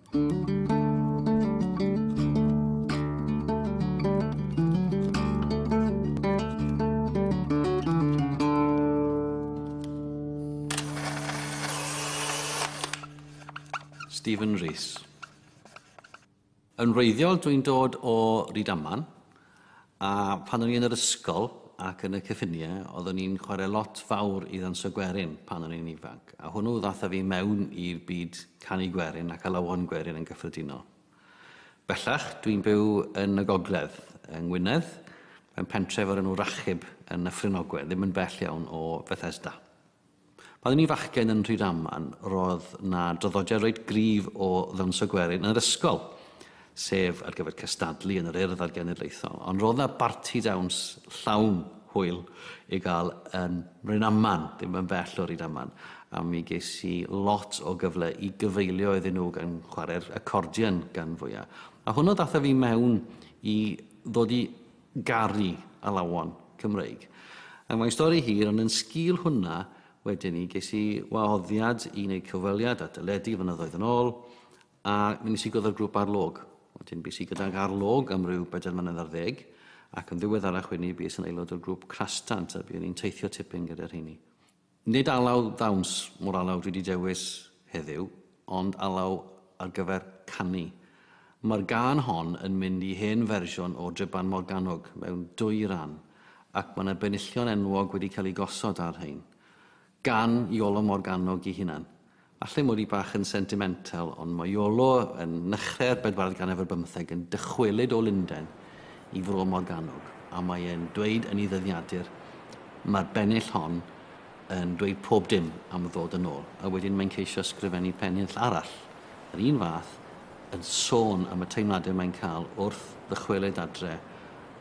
Stephen Rees. Yn wreiddiol dwi'n dod o Rydaman, a pan o'n i yn yr ysgol ac yn y cyffiniau, oeddwn i'n chwarae lot fawr i ddawnsio gwerin pan o'n i'n ifanc. A hwnnw ddath â fi mewn i'r byd canu gwerin ac alawon gwerin yn gyffredinol. Bellach, dwi'n byw yn y gogledd, yng Ngwynedd, mewn pentref o'r enw Rachub yn Nyffryn Ogwen, ddim yn bell iawn o Fethesda. Pan o'n i'n fachgen yn Rhydaman, roedd 'na draddodiad reit gryf o ddawnsio gwerin yn yr ysgol, sef ar gyfer cystadlu yn yr Urdd a'r Genedlaethol. Ond roedd 'na barti dawns llawn hwyl i gael yn Mrynaman, ddim yn bell o Rydaman, a mi ges i lot o gyfle i gyfeilio iddyn nhw gan chwarae'r accordion gan fwya. A hwnnw ddath â fi mewn i ddod i garu alawon Cymreig. Ac mae'n stori hir, ond yn sgil hwnna, wedyn 'ny, ges i wahoddiad i wneud cyfweliad ar deledu flynyddoedd yn ôl, a mi wnes i gwrdd â'r grŵp Ar Log. Wedyn bues i gydag Ar Log am ryw bedair mlynedd ar ddeg, ac yn ddiweddarach wedyn 'ny bues yn aelod o'r grŵp Crastant, a buon ni'n teithio tipyn gyda rheini. Nid alaw ddawns mo'r alaw dwi 'di dewis heddiw, ond alaw ar gyfer canu. Mae'r gân hon yn mynd i hen fersiwn o Dryban Morgannwg mewn dwy ran, ac mae 'na benillion enwog wedi cael eu gosod ar rhein. Gan Iolo Morgannwg 'i hunan. Falle mod i bach yn sentimental, ond mae Iolo yn nechrau'r bedwaredd ganrif ar bymtheg yn dychwelyd o Lunden i Fro Morgannwg, a mae e'n dweud yn ei ddyddiadur, Mae'r bennill hon yn dweud pob dim am ddod yn ôl, a wedyn mae'n ceisio ysgrifennu pennill arall, yr un fath, yn sôn am y teimladau mae'n cael wrth ddychwelyd adre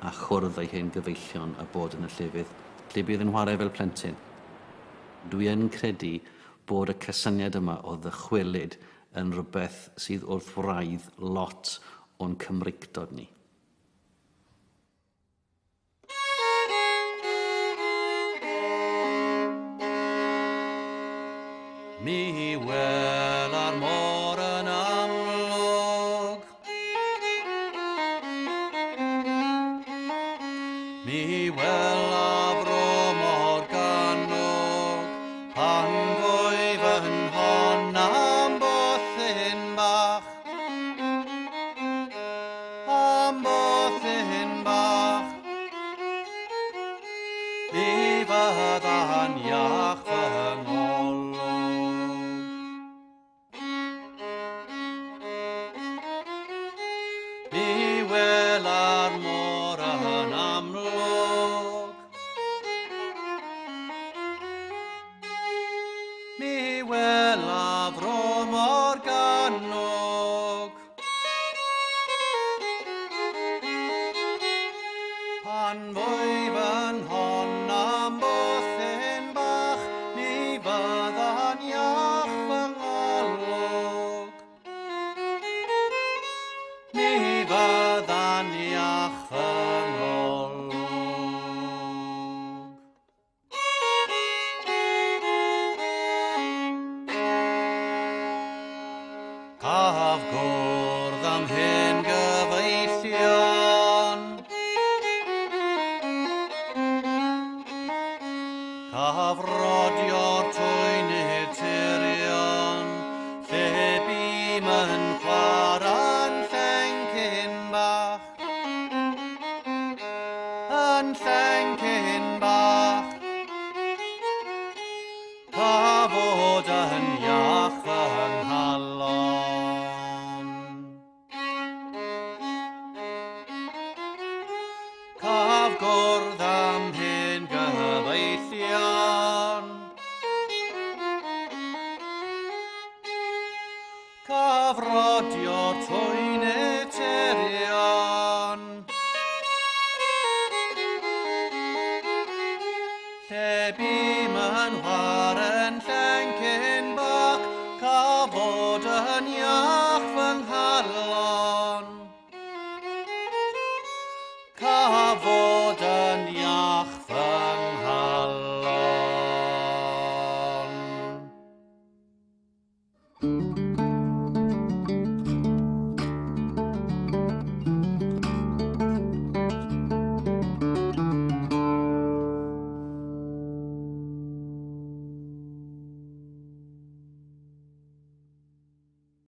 a chwrdd â'i hen gyfeillion a bod yn y llefydd lle buodd yn whare fel plentyn. Dwi yn credu bod y cysyniad yma o ddychwelyd yn rhywbeth sydd wrth wraidd lot o'n Cymreictod ni. Mi wela'r môr yn amlwg. Mi wela fro Morgannwg pan fwy fy nhon am bwthyn bach. Am bwthyn bach. Mi fydda'n iach fy ngolwg. Mi wela'r môr yn amlwg. Mi wela fro Morgannwg. Pan fwy fy nhon am bwthyn bach, mi fydda'n iach fy ngolwg. Mi fydda'n iach fy ngolwg. Caf gwrdd am hen gyfeillion. Caf rodio'r twynydd tirion, lle bûm yn chwarae'n llencyn bach. Yn llencyn bach. Pa fod yn iach fy nghalon. Caf gwrdd am hen gyfeillion. Caf rodio'r twynydd